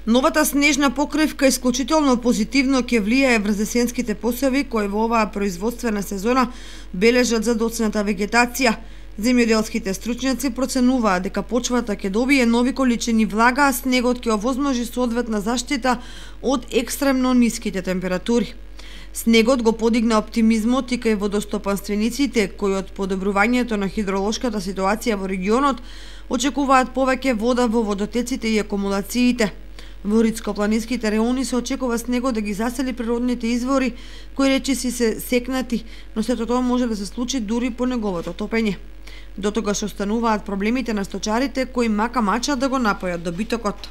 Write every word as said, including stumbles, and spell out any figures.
Новата снежна покривка исклучително позитивно ќе влијае врз есенските посеви кои во оваа производствена сезона бележат задоцната вегетација. Земјоделските стручњаци проценуваат дека почвата ќе добие нови количини влага, а снегот ќе овозможи соодветна заштита од екстремно ниските температури. Снегот го подигна оптимизмот и кај водостопанствениците кои од подобрувањето на хидролошката ситуација во регионот очекуваат повеќе вода во водотеците и акумулациите. Во ридско-планинските реони се очекува снегот да ги засели природните извори кои речиси се секнати, но сето тоа може да се случи дури по неговото топење. До тогаш остануваат проблемите на сточарите кои мака мачат да го напојат добитокот.